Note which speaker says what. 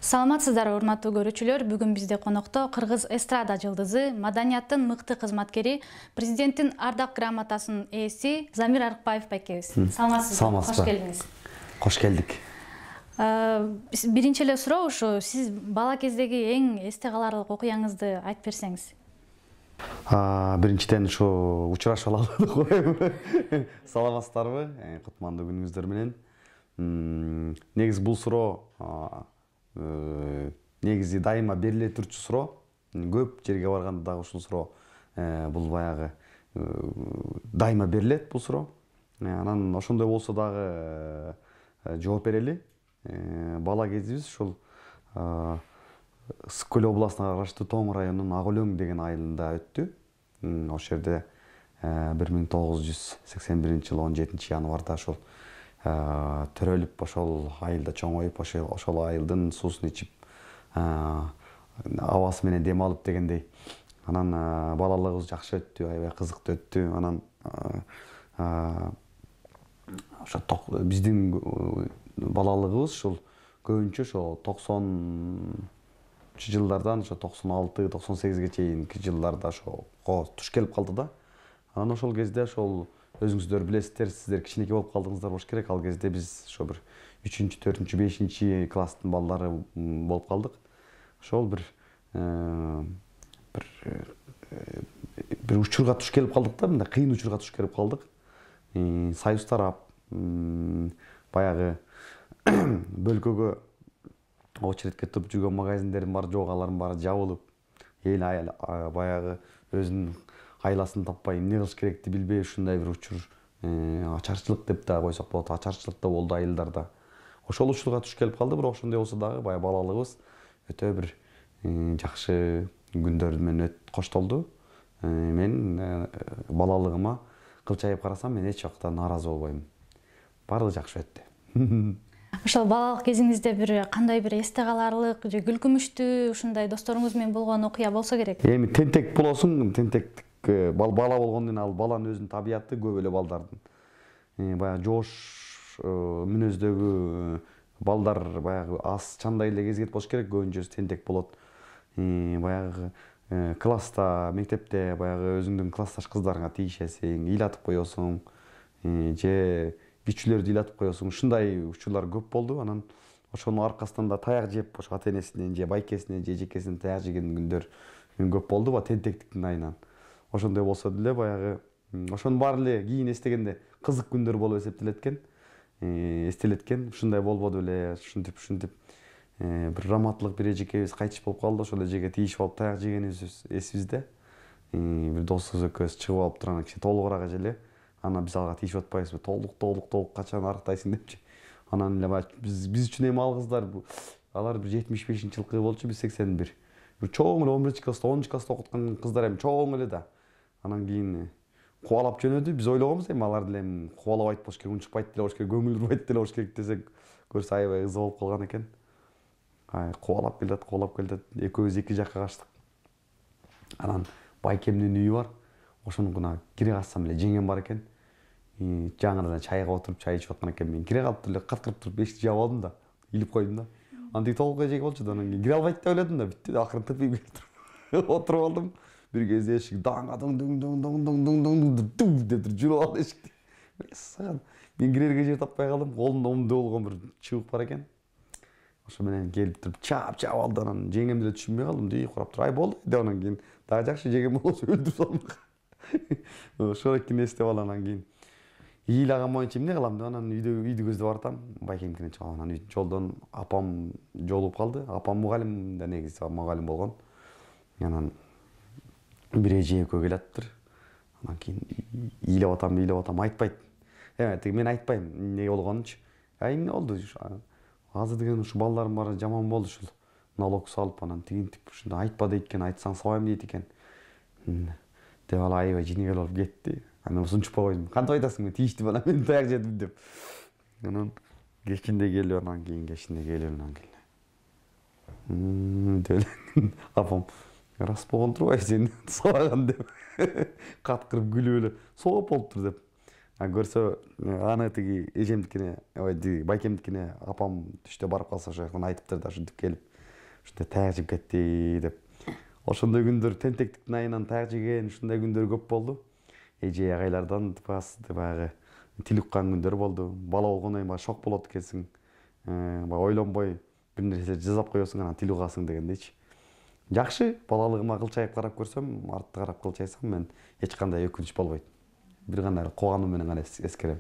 Speaker 1: Саламатсыздар, урматтуу көрүүчүлөр. Бүгүн бизде конокто кыргыз эстрада жылдызы, маданияттын мыкты кызматкери, президенттин ардак грамотасынын ээси Замир Арыкбаев байкебиз. Саламатсызбы? Кош келиңиз.
Speaker 2: Кош келдик.
Speaker 1: Биринчи эле суроо ушу, сиз бала кездеги эң эсте каларлык окуяңызды айтып берсеңиз.
Speaker 2: Биринчиден ушу учурашып алалы коеюн. Саламатсыздарбы? Кутмандуу күнүңүздөр менен. Негизи бул суроо негизи дайыма бериле турчу суроо. Көп жерге барганда дагы ушул суроо бул баягы дайыма берилет бул суроо. Анан ошондой болсо дагы жооп берели. Бала кезибиз ушул Ысык Көл областына караштуу Тоң районунун Ак Өлөң деген айылында өттү. Ошол жерде 1981 жылы 17 январда ошол төрөлүп, ошол айылда чоңоюп, ошол айылдын суусун ичип, абасы менен дем алып дегендей. Анан балалыгыбыз жакшы өттү, аябай кызыктуу өттү. Анан ошо биздин балалыгыбыз ушул көбүнчө ошо 90 жылдардан ошо 96-98ге чейинки жылдарда ошо туш келип калды да. Анан ошол кезде ошол өзүңүздөр билесиздер, сиздер кичинекей болуп калдыңыздар болуш керек. Ал кезде биз ошо бир 3-4, 5 класстын балдары болуп калдык. Ошол бир учурга туш келип калдык да, мындай кыйын учурга туш келип калдык. Союз тарап, баягы бөлкөгө очередке туруп жүргөн магазиндердин баары жок, алардын баары жабылып, эл баягы өзүнүн айласын таппай, эмне кылыш керекти билбей, ушундай бир учур, ачарчылык деп да койсок болот, ачарчылык да болду айылдарда. Ошол учурга туш келип калды, бирок ошондой болсо дагы баягы балалыгыбыз өтө бир жакшы күндөр менен коштолду. Мен балалыгыма кылчайып карасам, мен эч убакта нааразы болбойм. Баардыгы жакшы өттү.
Speaker 1: Ошол балалык кезиңизде бир кандай бир эсте каларлык же күлкүмүштүү ушундай досторуңуз менен болгон окуя болсо керек?
Speaker 2: Эми тентек болосуң, тентектик бала болгондон ал баланын өзүнүн табияты көп эле балдардын. Баягы жоош мүнөздөгү балдар баягы аз чандай эле кезигет болуш керек, көбүнчөсү тентек болот. Баягы класста, мектепте баягы өзүңдүн классташ кыздарыңа тийишесиң, ыйлатып коесуң, же кичүүлөрдү ыйлатып коесуң. Ушундай учурлар көп болду. Анан ошонун аркасынан да таяк жеп, ошо ата-энесинен же байкесинен же эжекесинен таяк жеген күндөр көп болду ба, тентектиктин айынан. Ошондой болсо деле баягы ошонун баары эле кийин эстегенде кызык күндөр болуп эстелеткен. Ушундай болбоду беле, ушинтип бир раматтылык бир эжекебиз кайтыш болуп калды. Ошол эжеге тийишип алып таяк жегенибиз эсибизде. Бир досубуз экөөбүз чыгып алып турган кичине толугураак эже. Анан биз алга тийишип атпайбызбы? Толук качан арыктайсың депчи. Анан эле баягы биз үчүн эми ал кыздар, алар бир 75-жылкы болчу, биз 81. Бир чоң эле 11-класста, 10-класста окуткан кыздар эми чоң эле да. Анан кийин кубалап жөнөдү. Биз ойлогонбуз эми алар деле эми кубалабайт болуш керек, унчукпайт деле болуш керек, көңүл бурбайт деле болуш керек десек, көрсө аябай ыза болуп калган экен. Кубалап келатат. Экөөбүз эки жакка качтык. Анан байкемдин үйү бар. Ошонукуна кире калсам эле жеңем бар экен. Жаңыдан чайга отуруп, чай ичип аткан экен. Мен кире калып эле каткырып туруп эшикти жаап алдым да, илип койдум да. Анан тиги толук эжек болчу да, анан кийин кире албайт деп ойлодум да, бүттү да, акырын тырпип келип отуруп алдым. Бир кезде эшик деп жүрүп алды эшикти. Мен кирерге жер таппай калдым. Колумда умду болгон бир чыбык бар экен. Ошо менен келип туруп чаап алды. Анан жеңем деле түшүнбөй калдым. Дей курап туруп, ай болду деп, анан кийин дагы жакшы жеңем болсо өлтүрүп салмак. Ошолокин эстеп алам. Анан кийин ыйлаган боюнча эмне кылам деп анан үйдү көздөп баратам. Байкемкине чыгам. Анан жолдон апам жолугуп калды. Апам мугалим да, негизи мугалим болгон. Анан бир эже экөө келатыптыр. Анан кийин ыйлап атам, айтпайт. Мен айтпайм эмне болгонунчу. Эмне болду? Азыр деген ушу балдардын баары жаман болду ушул. Налог салып, анан тигинтип ушунда айтпа дейт экен, айтсаң сабайм дейт экен. Деп ал аябай жинегел болуп кетти. Анан сунчупка койдум. Кантип айтасың, мен тийиштим, анан мен таяк жедим деп. Анан кечинде келип, анан кийин деп апам рас болгон турбайбы сен сабаган деп каткырып күлүп эле сооп болуптур деп. Көрсө аны тиги эжемдикине, байкемдикине апам түштө барып калса ошол жактан айтыптыр да, ушинтип келип ушундай таяк жеп кетти деп. Ошондой күндөр тентектиктин айынан таяк жеген ушундай күндөр көп болду. Эже агайлардан баягы тил уккан күндөр болду. Бала болгондон кийин баягы шок болот экенсиң. Баягы ойлонбой бир нерсе жасап коесуң, анан тил угасың дегендейчи. Жакшы, балалыгыма кылчайып карап көрсөм, артты карап кылчайсам мен эч кандай өкүнүч болбойт. Бир гана кубануу менен гана эскерем.